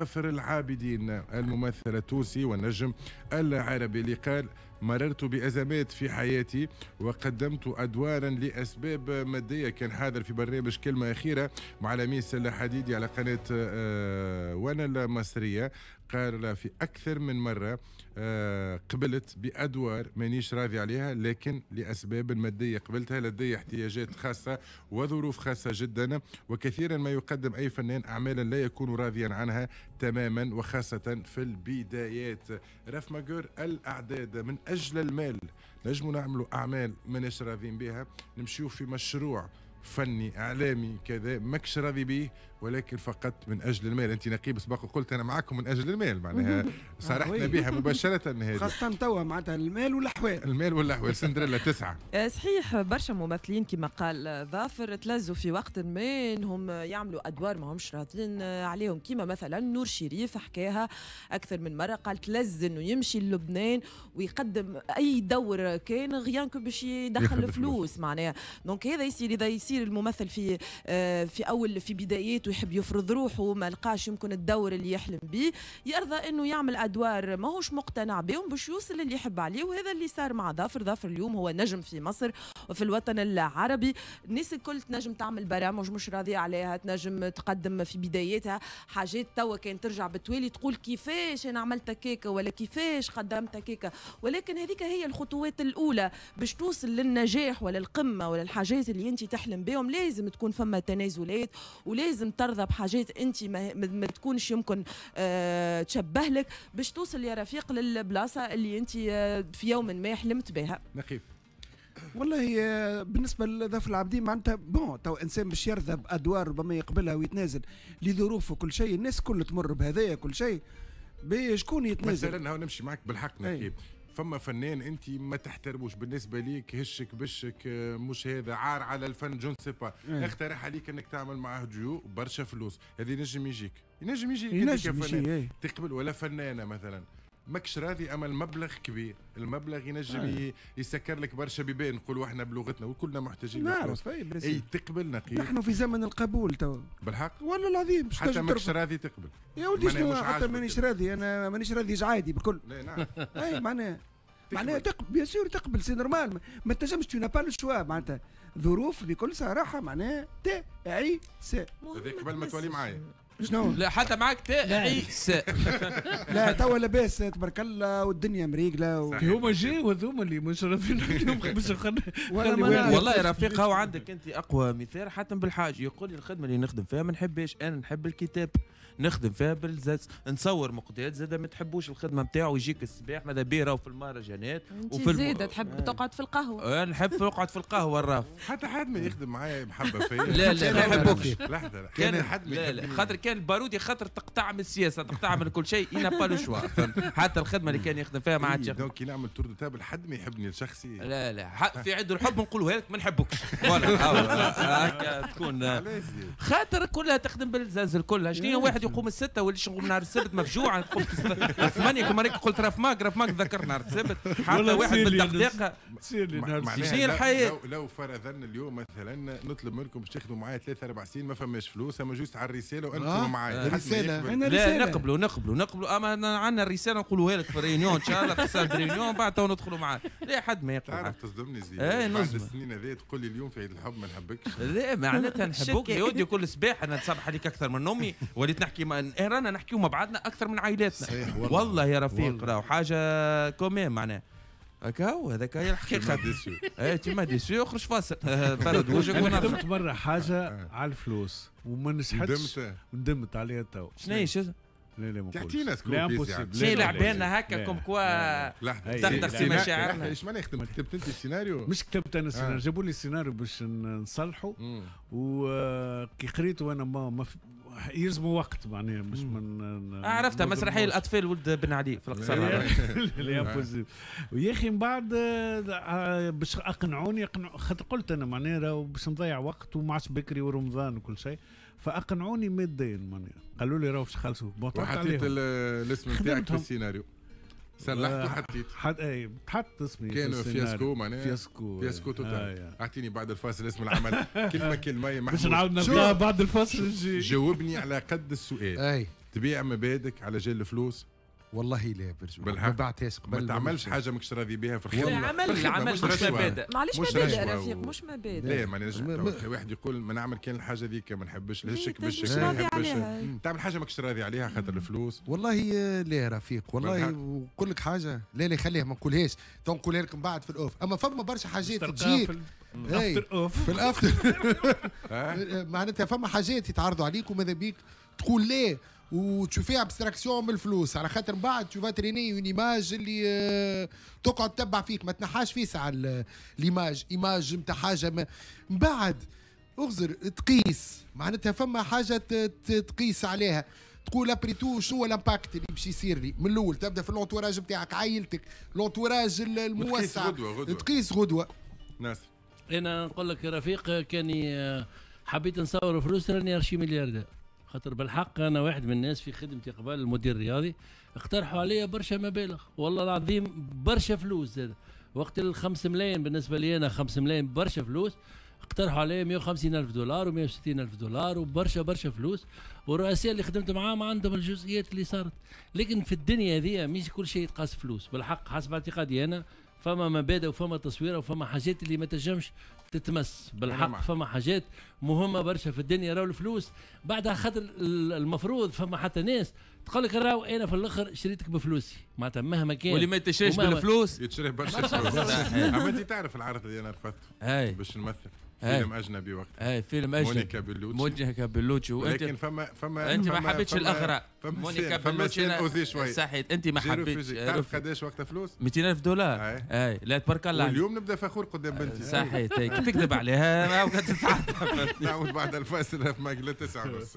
ظافر العابدين الممثل التونسي والنجم العربي اللي قال: مررت بأزمات في حياتي وقدمت أدوارا لأسباب مادية. كان حاضر في برنامج كلمة أخيرة مع لميس الحديدي على قناة وانا المصرية. قال في أكثر من مرة قبلت بأدوار مانيش راضي عليها، لكن لأسباب مادية قبلتها، لدي احتياجات خاصة وظروف خاصة جدا، وكثيرا ما يقدم أي فنان أعمالا لا يكون راضيا عنها تماما، وخاصة في البدايات. راف ماجور، الأعداد من أجل المال نجموا نعملوا أعمال ماناش راضيين بها، نمشيو في مشروع فني اعلامي كذا ماكش راضي به، ولكن فقط من اجل المال. انت نقيب سبق وقلت انا معاكم من اجل المال، معناها صارحنا بها مباشرة هذه، خاصة توا معناتها المال والاحوال، المال والاحوال. سندريلا 9. صحيح، برشا ممثلين كما قال ظافر تلزوا في وقت ما انهم يعملوا ادوار ما همش راضيين عليهم، كما مثلا نور شريف حكاها اكثر من مرة، قال تلز انه يمشي للبنان ويقدم اي دور كان rien que باش يدخل فلوس معناها. donc هذا يصير، اذا يصير الممثل في اول في بداياته يحب يفرض روحه، ما لقاش يمكن الدور اللي يحلم به، يرضى انه يعمل ادوار ماهوش مقتنع بهم باش يوصل اللي يحب عليه. وهذا اللي صار مع ظافر. ظافر اليوم هو نجم في مصر وفي الوطن العربي. الناس الكل تنجم تعمل برامج مش راضية عليها، تنجم تقدم في بدايتها حاجات توا كان ترجع بالتوالي تقول كيفاش انا عملت كيكة ولا كيفاش قدمت كيكة، ولكن هذيك هي الخطوات الاولى باش توصل للنجاح ولا القمه ولا الحاجات اللي انت تحلم بهم. لازم تكون فما تنازلات ولازم ترضى بحاجات انت ما تكونش يمكن تشبه لك باش توصل يا رفيق للبلاصه اللي انت في يوم ما حلمت بها. نقيب، والله بالنسبة لظافر العابدين معناتها bon تو انسان باش يرضى بادوار ربما يقبلها ويتنازل لظروفه وكل شيء، الناس كل تمر بهذايا كل شيء، شكون يتنازل؟ مثلا هاو نمشي معك بالحق نقيب، فما فنان انت ما تحترموش بالنسبة ليك، هشك بشك مش هذا عار على الفن je ne sais pas، اقترح عليك انك تعمل معاه ديو برشا فلوس، هذه ينجم يجيك، ينجم يجيك ينجم يجي تقبل. ولا فنانة مثلا ماكش راضي اما المبلغ كبير، المبلغ ينجم يسكر لك برشا بيبان، نقولوا احنا بلغتنا وكلنا محتاجين نعرف. اي تقبل نقيب، نحن في زمن القبول تو بالحق والله العظيم. حتى ماكش راضي تقبل يا ولدي، شنو حتى مانيش راضي، انا مانيش راضي عادي بالكل. لا نعم اي معناها تقبل، bien sûr تقبل، c'est normal، ما تنجمش tu n'as pas le choix معناتها ظروف بكل صراحة معناها تعيس. هذاك قبل ما تولي معايا شنو؟ لا حتى معاك تعيس. لا توا لاباس تبارك الله والدنيا مريقله هما جاو هذوما اللي مش راضيين باش والله يا رفيق هاو عندك انت اقوى مثال. حاتم بالحاج يقول لي الخدمة اللي نخدم فيها ما نحبهاش، انا نحب الكتاب نخدم فيها بالزاز، نصور مقداد زاد ما تحبوش الخدمة نتاعو، يجيك الصباح ماذا بيه راهو في المهرجانات وفي زاده تحب تقعد في القهوة. انا نحب نقعد في القهوة الراف. حتى حد ما يخدم معايا محبة فيا. لا لا ما نحبوكش. لحظة كان حد لا لا خاطر كان البارودي خاطر تقطع من السياسة تقطع من كل شيء، il n'a pas le choix، حتى الخدمة اللي كان يخدم فيها ما عادش. donc كي نعمل tour de table حد ما يحبني لشخصي. لا لا في عيد الحب نقولوها لك ما نحبوكش voilà هكا تكون خاطر كلها تخدم بالزاز كلها. شنو واحد يقوم الستة ولا نقوم نهار السبت مفجوع، نقوم 8 كما راك قلت راف ماك راف ماك ذكر نهار السبت حتى واحد بالدقيقة. شنو الحياة؟ لو فرضا اليوم مثلا نطلب منكم باش تاخذوا معايا 3 4 سنين ما فماش فلوس، اما juste على الرسالة وانتم معايا. رسالة لا نقبلوا نقبلوا نقبلوا، اما عندنا الرسالة نقولوها لك في réunion ان شاء الله في salle réunion بعد تو ندخلوا معاك. لا حد ما يقبل. تعرف تصدمني زيد بعد السنين هذه تقول لي اليوم في عيد الحب ما نحبكش. لا معناتها نحبوك يا ودي، كل صباح انا نصبح عليك اكثر من امي، وليت نحكي رانا نحكيو مع بعضنا اكثر من عائلاتنا. صحيح والله, والله يا رفيق راهو حاجة quand même معناها هكا هو هذاك هي الحقيقة. اي tu m'as déçu اخرج فاصل برد وجهك. انا خدمت مرة حاجة على الفلوس وما نجحتش وندمت عليها تو. شنو هي؟ لا لا ما تحكينا scoop. شنو لعبنا هكا comme quoi تخدخ في مشاعرنا. ايش معناها خدمت؟ كتبت انت السيناريو؟ مش كتبت انا السيناريو، جابوا لي السيناريو باش نصلحه، وكي قريته انا ما يلزموا وقت معناها مش من عرفتها مسرحية الاطفال ولد بن علي في القصر. لا impossible. ويا اخي من بعد باش اقنعوني خاطر قلت انا معناها باش نضيع وقت وما عادش بكري ورمضان وكل شيء، فاقنعوني ماديا معناها قالوا لي راهو باش خلصوا. وحطيت الاسم نتاعك في السيناريو، صلحت وحطيت اي تحط اسمي. كانوا fiasco معناها fiasco fiasco total. اعطيني بعد الفاصل اسم العمل كلمة كلمة يا محمود باش نعاود نلقاها بعد الفاصل. جاوبني على قد السؤال. اي تبيع مبادئك على جال الفلوس؟ والله لا برجع ما بعتهاش قبل. ما تعملش حاجة ماكش راضي بها في الخدمة. العمل العمل مش مبادئ. معليش مبادئ رفيق، مش مبادئ. لا ما نجم واحد يقول ما نعمل كان الحاجة ذيك، ما نحبش الهشك باش ما نحبش تعمل حاجة ماكش راضي عليها خاطر الفلوس. والله لا رفيق، والله ونقول لك حاجة، لا لا خليها ما نقولهاش، تو نقولها لكم بعد في ال off. اما فما برشا حاجات تجيك في ال after معناتها فما حاجات يتعرضوا عليك وماذا بيك تقول لا وتشوفيها abstraction من الفلوس، على خاطر من بعد tu vas traîner une image اللي تقعد تتبع فيك، ما تنحاش فيس على l'image، image نتاع حاجة من بعد اغزر تقيس، معناتها فما حاجة تقيس عليها، تقول après tout شنو هو l'impact اللي باش يصير لي من الاول. تبدا في l'entourage نتاعك، عائلتك، l'entourage الموسع، تقيس غدوه. ناس انا نقول لك رفيق، كاني حبيت نصور فلوس راني archi milliardaire، خاطر بالحق انا واحد من الناس في خدمتي قبل المدير الرياضي اقترحوا علي برشا مبالغ، والله العظيم برشا فلوس زاد. وقت ال5 ملايين بالنسبة لي انا 5 ملايين برشا فلوس، اقترحوا علي 150 الف دولار و160 الف دولار وبرشا برشا فلوس. والرؤساء اللي خدمت معاهم عندهم الجزئيات اللي صارت، لكن في الدنيا هذه مش كل شيء يتقاس فلوس. بالحق حسب اعتقادي انا فما مبادئ وفما تصويره وفما حاجات اللي ما تنجمش تتمس. بالحق فما حاجات مهمة برشا في الدنيا، راهو الفلوس بعدها خاطر المفروض فما حتى ناس تقول لك راهو انا في الاخر شريتك بفلوسي، معناتها مهما كان واللي ما تشريش بالفلوس يتشري برشا فلوس. اما انت تعرف العرض اللي انا رفضته باش نمثل فيلم اجنبي وقتها. اي فيلم اجنبي، مونيكا بيلوتشي. مونيكا بيلوتشي، ولكن فما انت ما حبيتش الاغراء. مونيكا بيلوتشي صحيت، انت ما حبيتش. تعرف قداش وقتها فلوس؟ 200 ألف دولار. اي لا تبارك الله. واليوم نبدا فخور قدام بنتي. صحيت، كي تكذب عليها نعود بعد الفاصل في ماجلة 9:30.